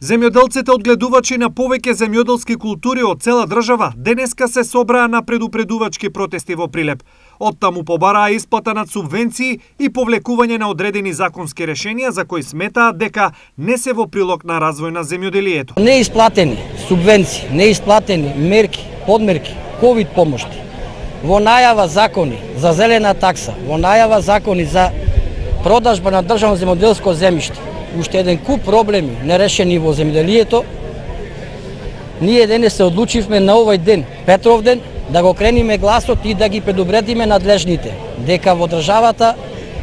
Земјоделците одгледувачи на повеќе земјоделски култури од цела држава денеска се собраа на предупредувачки протести во Прилеп. Оттаму побараа исплата на субвенции и повлекување на одредени законски решенија за кои сметаат дека не се во прилог на развој на земјоделието. Неисплатени субвенции, неисплатени мерки, подмерки, ковид помошти, во најава закони за зелена такса, во најава закони за продажба на државно земјоделско земјиште, уште еден куп проблеми нерешени во земјоделието, ние денес се одлучивме на овој ден, Петровден, да го крениме гласот и да ги предупредиме надлежните дека во државата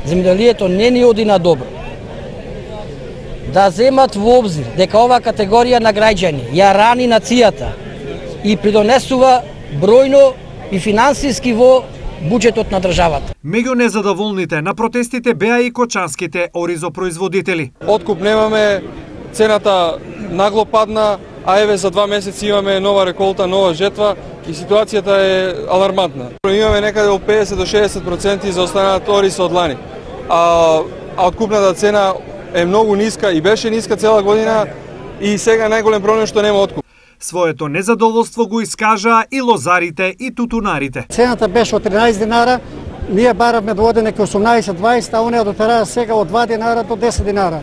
земјоделието не ни оди на добро. Да земат во обзир дека ова категорија на граѓани ја рани нацијата и придонесува бројно и финансиски во буџетот на државата. Меѓу незадоволните на протестите беа и кочанските оризопроизводители. Откуп немаме, цената нагло падна, а еве за 2 месеци имаме нова реколта, нова жетва и ситуацијата е алармантна. Имаме некаде од 50 до 60% за останат ориз од лани. А откупната цена е многу ниска и беше ниска цела година и сега најголем проблем што нема откуп. Своето незадоволство го искажаа и лозарите и тутунарите. Цената беше од 13 динара, ние баравме до одене ке 18-20, а оние дотераа сега од 2 динара до 10 динара.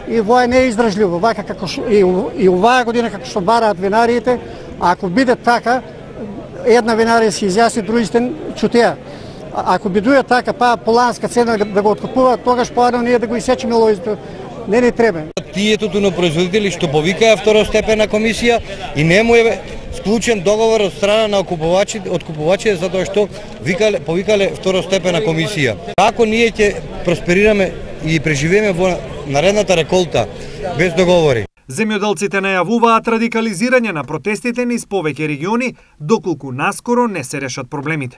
И вој не е издржливо, вака како и оваа година како што бараат винариите, ако биде така, една винарија се изјасни, другите чутеа. Ако бидуе така, па поланска цена да го откупуваат, тогаш поадно ние да го исечеме лозите. Не ни треба. Тие тутунопроизводители што повикаа второстепена комисија и не му е склучен договор од страна на откупувачите затоа што повикале второстепена комисија. Како ние ќе просперираме и преживееме во наредната реколта без договори? Земјоделците најавуваат радикализирање на протестите низ повеќе региони, доколку наскоро не се решат проблемите.